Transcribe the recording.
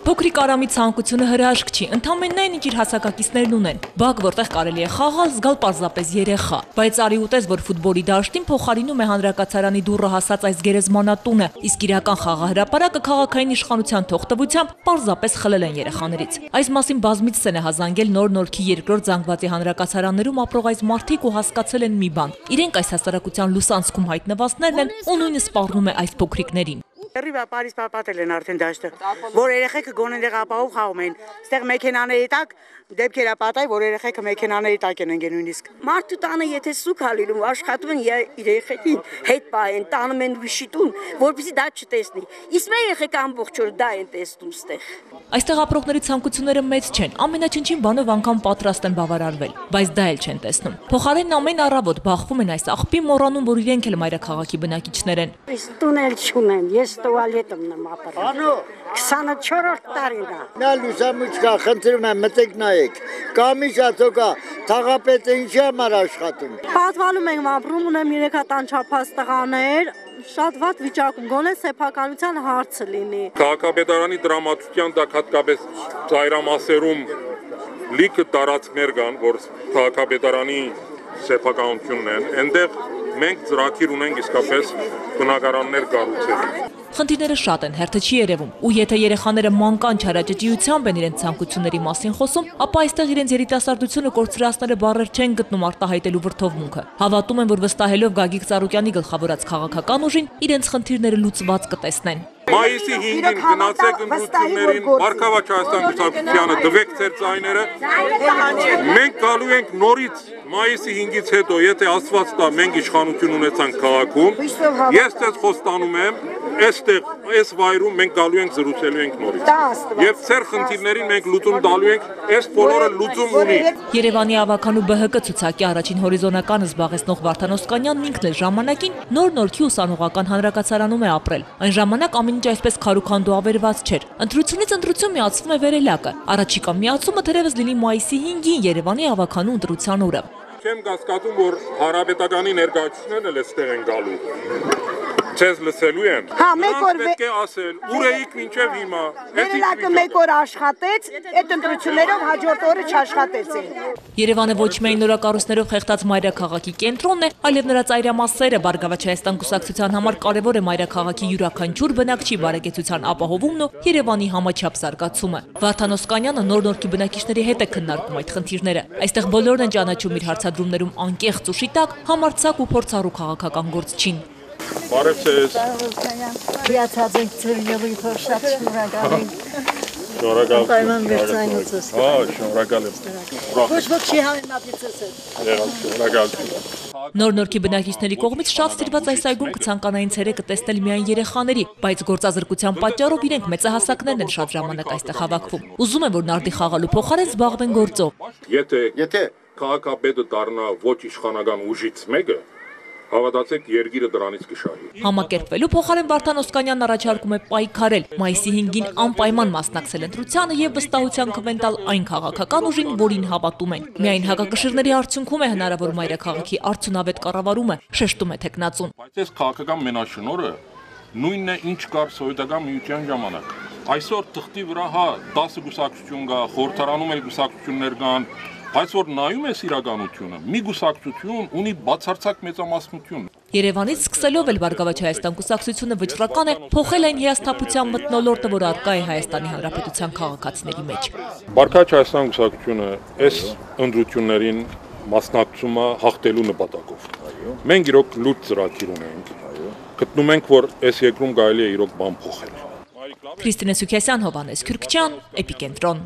Փոքրիկ Արամի ցանկությունը հրաշք չի, ընդամենն այն, ինչ իր հասակակիցներն ունեն։ Բակ, որտեղ կարելի է խաղալ, զգալ պարզապես երեխա։ Բայց արի ուտես, որ ֆուտբոլի դաշտին փոխարինում է հանրակացարանի դուռը հասած այս գերեզմանատունը, իսկ իրական խաղահրապարակը քաղաքային իշխանության թողտվությամբ պարզապես խլել են երեխաներից։ Այս մասին բազմիցս են հազանգել Նոր Նորքի երկրորդ զանգվածի հանրակացարաններում ապրող այս մարդիկ ու հասկացել են մի բան։ Իրենք այս հասարակության լուսանցքում հայտնվածներն են ու նույնը սպառնում է այս փոքրիկներին։ Ռիվա Փարիզ պապատել են արդեն դաշտը, որ երեխեքը գոնեն դեղ ապահով խաղում են, ստեղ մեքենաների տակ դեպքեր ապատայ, որ երեխեքը մեքենաների տակ են ընկել նույնիսկ։ Մարդու տանը եթե սուք հալինում, աշխատում են երեխեքին հետ պահեն, տանում են վիշիտուն, որպեսզի դա չտեսնի։ Իսկ մեր երեխեքը ամբողջ օր դա են տեսնում ստեղ։ Այստեղ ապրողների ցանկությունները մեծ չեն, ամենաչնչին բանով անգամ պատրաստ են բավարարվել, բայց դա էլ չեն տեսնում։ Փոխարենն ամեն առավոտ բախվում են այս աղբի, մոռանում, որ իրենք էլ մայրաքաղաքի բնակիչներ են։ Իսկ տունել չունեմ, ես տուալետում եմ ապրում։ 24-րդ տարին է։ Նա լուսամուտքա, խնդրում եմ մտեք նայեք։ Կամիջա թոկա, թաղապետը ինչի համար աշխատում։ Պատվալում ենք ապրում, ունեմ 3 հատ անչափահաս տղաներ, շատ վատ վիճակում, գոնե սեփականության հարցը լինի։ Քաղաքապետարանի դրամատուրգիան դա հատկապես ծայրամասերում լիքը տարածքներ կան, որ քաղաքապետարանի սեփականությունն են, այնտեղ մենք ծրագիր ունենք իսկապես բնակարաններ կառուցել։ Խնդիրները շատ են, հերթը չի երևում, ու եթե երեխաները մանկան չարաճճիությամբ են իրենց ցանկությունների մասին խոսում, ապա այստեղ իրենց երիտասարդությունը կորցրածները բառեր չեն գտնում արտահայտելու վրդովմունքը։ Հավատում են, որ վստահելով Գագիկ Ծառուկյանի գլխավորած քաղաքական ուժին, իրենց խնդիրները լուծված կտեսնեն։ Մայիսի 5-ին գնացեք ընտրություններին, Մարգավաճ Հայաստան կուսակցությանը դվեք ձեր ձայները։ Մենք գալու ենք նորից մայիսի 5-ից հետո, եթե Աստված տա, մենք իշխանություն ունեցանք քաղաքում, ես ձեզ խոստանում եմ, այստեղ, այս վայրում մենք գալու ենք զրուցելու ենք նորից։ Եվ ձեր խնդիրներին մենք լուծում տալու ենք, այս բոլորը լուծում ունի։ Երևանի ավականու ԲՀԿ ցուցակի առաջին հորիզոնականը զբաղեցնող Վարդան Օսկանյանն ինքն էլ ժամանակին Նոր Նորքի ուսանողական հանրակացարանում է ապրել։ Այն ժամանակ ամեն ինչ այսպես քարուքանդու ավերված չէր։ Ընտրությունից ընտրություն միացվում է վերելակը։ Առաջիկա միացումը թերևս լինի մայիսի 5-ին Երևանի ավականու ընտրության օրը։ Չեմ կասկածում, որ հանրապետականի ներկայացուցիչներն էլ այստեղ են գալու։ Չես լսելու եմ։ Մեկ օր պետք է ասել, ուր էիք մինչև հիմա։ Վերելակը մեկ օր աշխատեց, այդ ընտրություններով հաջորդ օրը չաշխատեց։ Երևանը ոչ միայն նորակառույցներով խեղդած մայրաքաղաքի կենտրոնն է, այլև նրա ծայրամասերը Բարգավաճ Հայաստան կուսակցության համար կարևոր է մայրաքաղաքի յուրաքանչյուր բնակչի բարեկեցության ապահովումն ու Երևանի համաչափ զարգացումը։ Վարդան Օսկանյանը Նոր Նորքի բնակիչների հետ է քննարկում այդ խնդիրները։ Այստեղ բոլորն են ճանաչում իր հարցադրումներում անկեղծ ու շիտակ, համարձակ ու փորձառու քաղաքական գործչին։ Բարև ձեզ։ Հիացած ենք ձեր ելույթով, շատ շնորհակալ ենք։ Շնորհակալ եմ։ Ոչ ոք չի համեմատեցել։ Շնորհակալ։ Նոր Նորքի բնակիչների կողմից շատ սիրված այս այգում կցանկանային ցերեկը տեսնել միայն երեխաների, բայց գործազրկության պատճառով իրենք մեծահասակներն են շատ ժամանակ այստեղ հավաքվում։ Ուզում են, որ նարդի խաղալու փոխարեն զբաղվեն գործով։ Եթե քաղաքապետը դառնա ոչ իշխանական ուժից մեկը, հավատացեք, երկիրը դրանից կշահի։ Համակերպվելու փոխարեն Վարդան Օսկանյանն առաջարկում է պայքարել, մայիսի 5-ին անպայման մասնակցել ընտրությանը եւ վստահության քվեն տալ այն քաղաքական ուժին, որին հավատում են։ Միայն հակակշիռների արդյունքում է հնարավոր մայրաքաղաքի արդյունավետ կառավարումը, շեշտում է թեկնածուն։ Բայց այս քաղաքական մենաշնորհը նույնն է, ինչ կար սովետական միության ժամանակ։ Այսօր թղթի վրա 10 գուսակցություն կա, խորհրդարանում էլ գուսակցություններ կան, բայց որ նայում ես իրականությունը, մի գուսակցություն ունի բացարձակ մեծամասնություն։ Երևանից սկսելով էլ Բարգավաճ Հայաստան կուսակցությունը վճռական է փոխել այն հիասթափության մթնոլորտը, որ առկա է Հայաստանի Հանրապետության քաղաքացիների մեջ։ Բարգավաճ Հայաստան կուսակցությունը այս ընտրություններին մասնակցում է հաղթելու նպատակով։ Մենք իրոք լուրջ ծրագիր ունենք։ Գտնում ենք, որ այս երկրում կարելի է իրոք բան փոխել։ Քրիստինե Սուքիասյան, Հովհաննես Քյուրքչյան, Էպիկենտրոն։